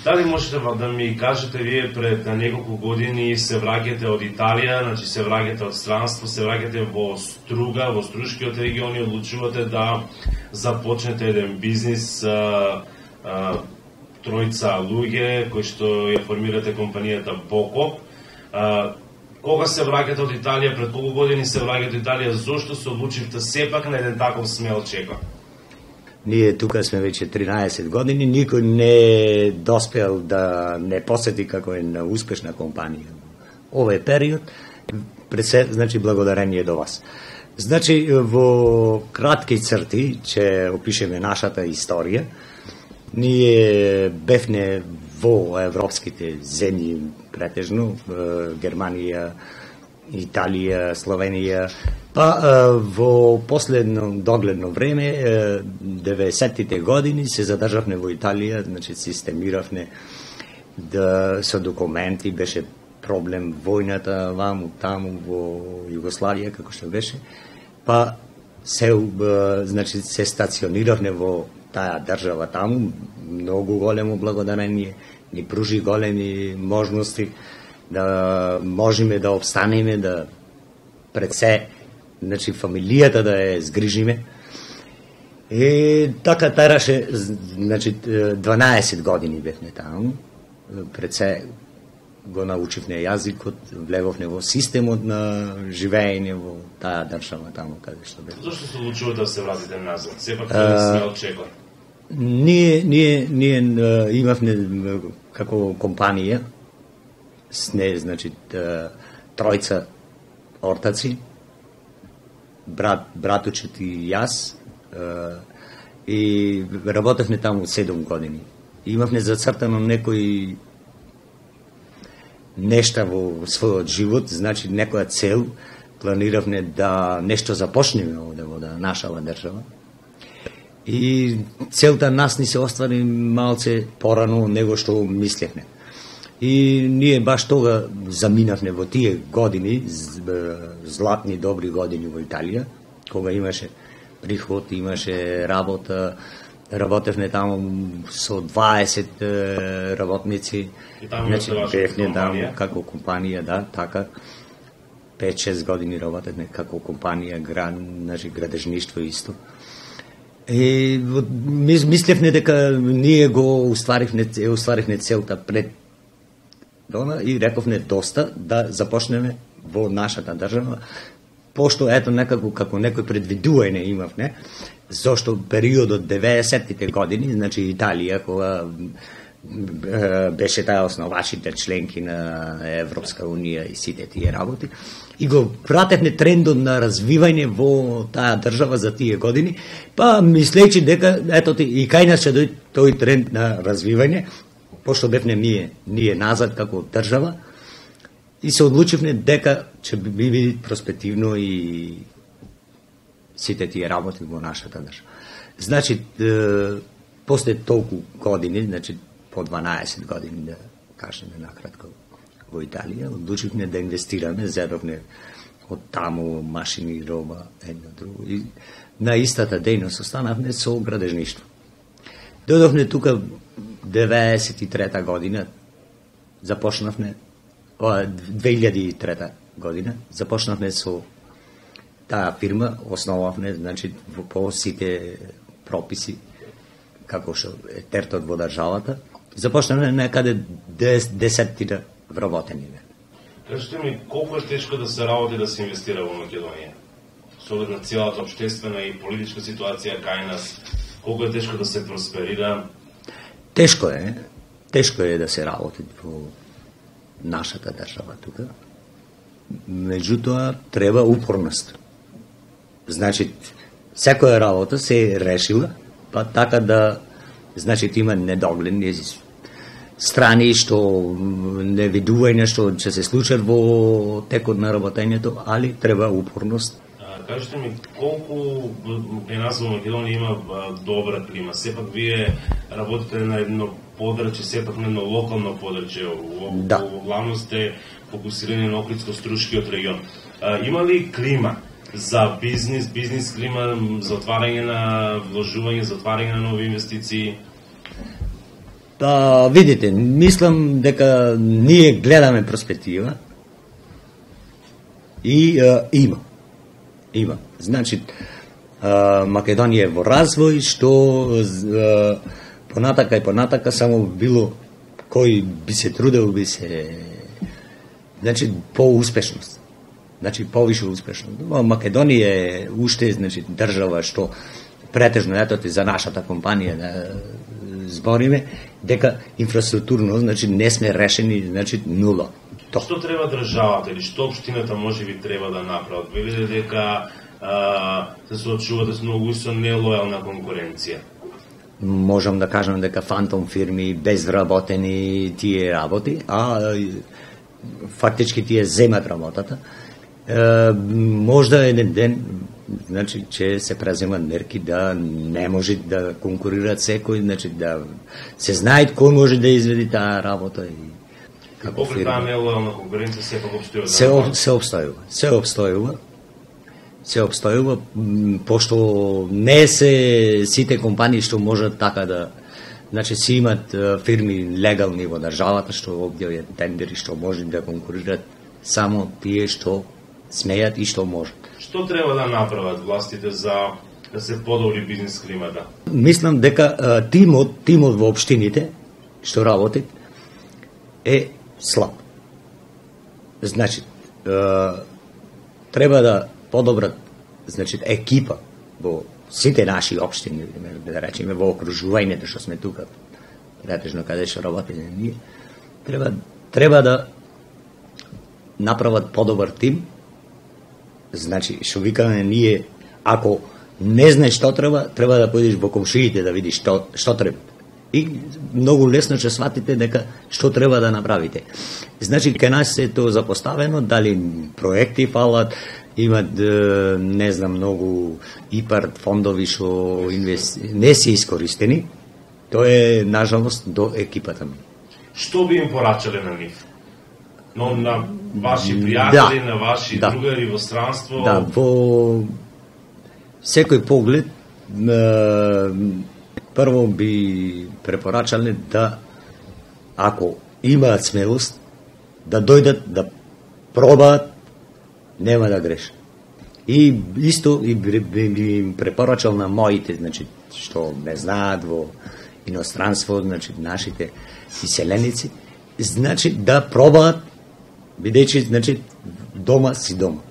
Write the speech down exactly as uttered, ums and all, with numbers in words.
Дали можете да ми кажете, вие пред неколку години се враќате од Италија, значи се враќате од странство, се враќате во Струга, во Струшкиот регион и одлучувате да започнете еден бизнис, а, а, тројца луѓе кои што ја формирате компанијата Боко. А, кога се враќате од Италија, пред колку години се враќате од Италија, зошто се одлучивте сепак на еден таков смел чекор? Ние тука сме веќе тринаесет години, никој не доспел да не посети како е на успешна компанија. Овој период, пред се, значи, благодарение до вас. Значи, во кратки црти, че опишеме нашата историја, ние бевне во европските земји претежно, Германија, Италија, Словенија, па во последно догледно време, деветдесеттите години, се задржавме во Италија, значи системиравме да со документи, беше проблем војната ваму, таму, во Југославија, како што беше, па се, значи, се стациониравме во таа држава таму, многу големо благодарение, ни пружи големи можности да можеме да обстанеме, да пред се, значи, фамилијата да ја згрижиме. И така тараше, значи, дванаесет години бевме таму, пред се го научивме јазикот, влевовме во системот на живеење во таа држава таму каде што бевме. Зошто се одлучувате да се вратите назад? Сепак тоа сме очекували. Ние, ние, ние имавме како компанија, сне, значи, тројца ортаци, брат, братучет и јас, и работевме таму седум години. Имавме зацртано некои нешта во својот живот, значи некоја цел, планиравме да нешто започнеме овде во да нашава држава. И целта нас ни се оствари малце порано него што мислевме. И ние баш тога заминавме во тие години, златни добри години во Италија, кога имаше приход, имаше работа, работевме таму со дваесет работници, значи бевме таму како компанија, да, така, пет-шест години работевме како компанија, град, значи градежништво исто. И мислевме дека ние го устваривме, устваривме целта пред дона и рековме доста да започнеме во нашата држава, пошто ето некако како некој предвидување имавме, зашто периодот деветдесеттите години, значи Италија, кога беше таа основачите членки на Европска унија и сите тие работи, и го пратевме трендот на развивање во таа држава за тие години, па мислејќи дека ето и кај нас ќе дојде тој тренд на развивање, пошто бевме ние, ние назад како држава, и се одлучивме дека ќе биде проспективно и сите тие работи во нашата држава. Значи, после толку години, значи по дванаесет години, да кажеме накратко, во Италија, одлучивме да инвестираме, зедовме од таму машини, роба, едно друго. И на истата дејност останавме со градежништво. Дојдовме тука деветдесет и трета година, започнавме, две илјади и трета година, започнавме со таа фирма, основавме, значи, по сите прописи, како што е тертот во државата, започнавме некаде десеттина вработени. Кажете ми, колку е тешко да се работи да се инвестира во Македонија? Со оглед на целата општествена и политичка ситуација кај нас, колку е тешко да се просперира? Тешко е, тешко е да се работи во нашата држава тука. Меѓутоа, треба упорност. Значи, секоја работа се решила, па така да, значи, има недогледни страни што невидување што ќе се случат во текот на работењето, али треба упорност. Кажете ми, колку е нас во Македонија има добра клима? Сепак вие работите на едно подрачје, сепак на едно локално подрачје, да. Главно сте фокусирани на Охридско-Струшкиот регион. Има ли клима за бизнис, бизнис клима, за отварање на вложување, за отварање на нови инвестиции? Па, видите, мислам дека ние гледаме перспектива и а, има. Има. Значи, а, Македонија е во развој, што а, понатака и понатака само било кој би се трудел, би се... Значи, по-успешност. Значи, повише успешност. Македонија е уште, значи, држава што претежно, ето ти за нашата компанија да збориме, дека инфраструктурно, значи, не сме решени, значи, нула. То. Што треба државата или што општината може би треба да направат? Видите дека а, се соочувате с многу со нелојална конкуренција. Можам да кажам дека фантом фирми, безработени тие работи, а фактички тие земат работата. Е, можда еден ден, значи, че се преземат мерки да не може да конкурират секој, значи да се знае кој може да изведи таа работа и како фирма. Таа нелојална конкуренција сепак обстојува. Се, об, се обстојува. Се обстојува. Се обстојува, пошто не се сите компании што можат така да, значи си имат фирми легални во државата што објавуваат тендери што може да конкурират само тие што смеат и што можат. Што треба да направат властите за да се подобри бизнес климата? Мислам дека тимот, тимот во општините што работи е слаб. Значи, треба да подобрат, значи, екипа во сите наши општини, да речеме во окружувањето што сме тука, претежно каде што работиме ние, треба треба да направат подобар тим. Значи, што викаме ние, ако не знаеш што треба, треба да појдеш во комшиите да видиш што што треба. И многу лесно ќе сватите дека што треба да направите. Значи, кај нас е тоа запоставено, дали проекти фалат, имат, не знам, многу ИПАР фондови што инвести... не се искористени. Тоа е, нажалост, до екипата ми. Што би им порачале на нив? Но на ваши пријатели, да, на ваши да. другари во странство? Да, во секој поглед, прво би препорачале да, ако имаат смелост, да дојдат, да пробаат, нема да грешат. И исто и би, би, би им препорачал на моите, значи, што не знаат во иностранство, значи, нашите иселеници, значи, да пробаат, бидејќи, значи, дома си дома.